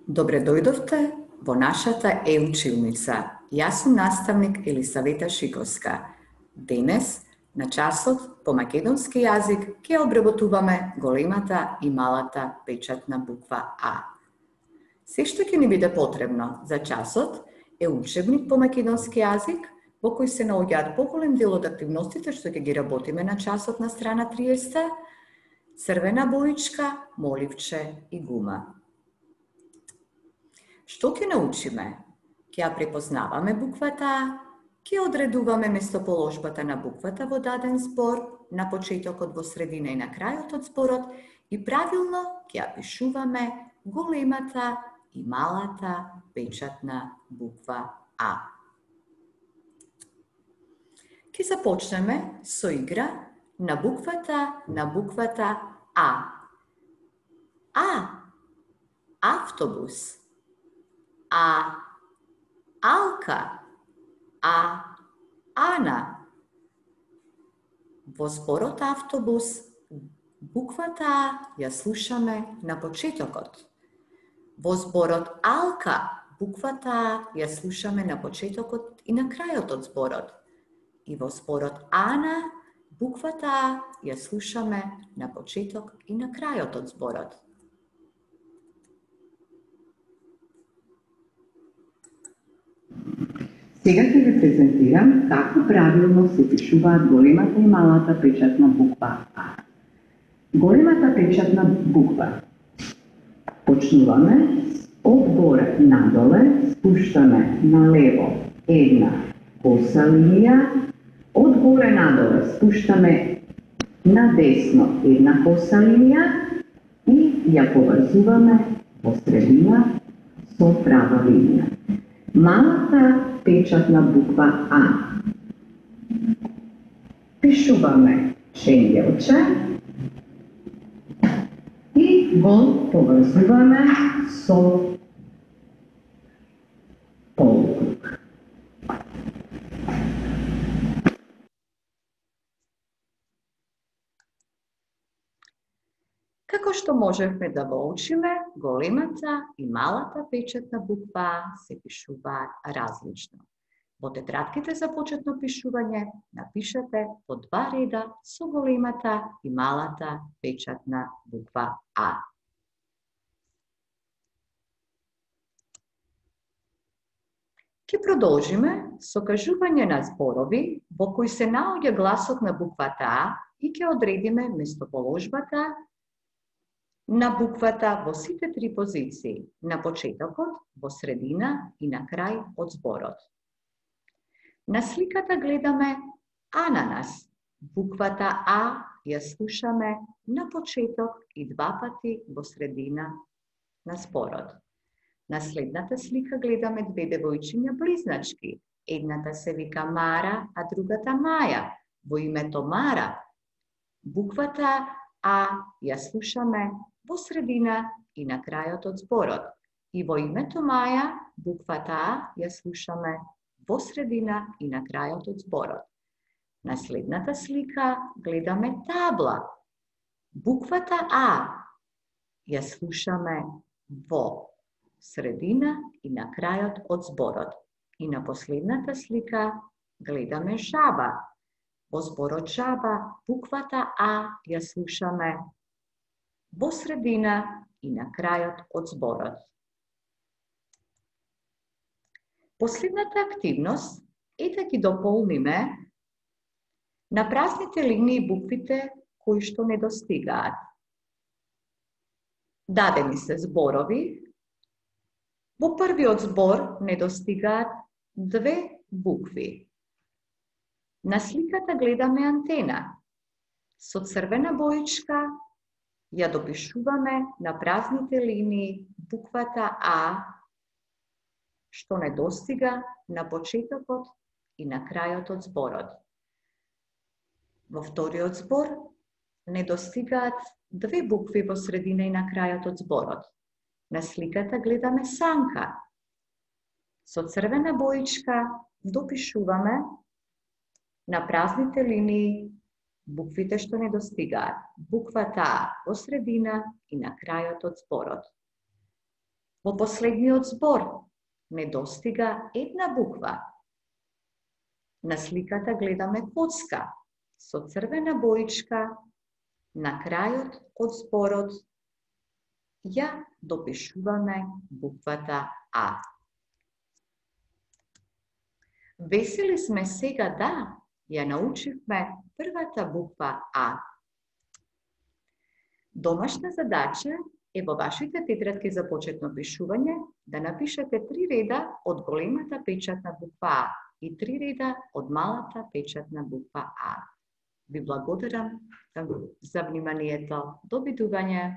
Добре дојдовте во нашата е-училница. Јас сум наставник Елисавета Шиковска. Денес, на часот по македонски јазик, ќе обработуваме големата и малата печатна буква А. Се што ќе ни биде потребно за часот е учебник по македонски јазик, во кој се наоѓаат поголем дел од активностите што ќе ги работиме на часот на страна 30, црвена боичка, моливче и гума. Што ќе научиме? Ќе ја препознаваме буквата А, ќе одредуваме местоположбата на буквата во даден збор, на почетокот, во средина и на крајот од зборот и правилно ќе ја пишуваме големата и малата печатна буква А. Ќе започнеме со игра на буквата А. А. Автобус. А. Алка. А. Ана. Во зборот автобус, буквата А ја слушаме на почетокот. Во зборот Алка, буквата А ја слушаме на почетокот и на крајот од зборот. И во зборот Ана, буквата А ја слушаме на почеток и на крајот од зборот. Сега ќе ви презентирам како правилно се пишуваат големата и малата печатна буква А. Големата печатна буква. Почнуваме од горе надоле, спуштаме налево една коса линија, од горе надоле спуштаме надесно една коса линија и ја поврзуваме во средина со права линија. Малата печатна буква А. Пишуваме ченгелче и го поврзуваме со полукруг. Како што можевме да го учиме, големата и малата печатна буква А се пишуваат различно. Во тетрадките за почетно пишување напишете по 2 реда со големата и малата печатна буква А. Ќе продолжиме со кажување на зборови во кои се наоѓа гласот на буквата А и ќе одредиме местоположбата на буквата во сите 3 позиции, на почетокот, во средина и на крај од зборот. На сликата гледаме ананас. Буквата А ја слушаме на почеток и 2 пати во средина на зборот. На следната слика гледаме 2 девојчиња близначки. Едната се вика Мара, а другата Маја. Во името Мара, буквата А ја слушаме во средина и на крајот од зборот. И во името Маја, буквата А ја слушаме во средина и на крајот од зборот. На следната слика гледаме табла. Буквата А ја слушаме во средина и на крајот од зборот. И на последната слика гледаме жаба. Во зборот жаба, буквата А ја слушаме во средина и на крајот од зборот. Последната активност е да ги дополниме на празните линии буквите кои што недостигаат. Дадени се зборови. Во првиот збор недостигаат 2 букви. На сликата гледаме антена. Со црвена боичка ја допишуваме на празните линии буквата А, што недостига на почетокот и на крајот од зборот. Во вториот збор недостигаат 2 букви во средина и на крајот од зборот. На сликата гледаме санка. Со црвена боичка допишуваме на празните линии буквите што недостигаат. Буквата А во средина и на крајот од зборот. Во последниот збор недостига една буква. На сликата гледаме коцка со црвена боичка. На крајот од зборот ја допишуваме буквата А. Весели сме сега да ја научивме првата буква А. Домашна задача е во вашите тетрадки за почетно пишување да напишете 3 реда од големата печатна буква А и 3 реда од малата печатна буква А. Ви благодарам за вниманието. До видување!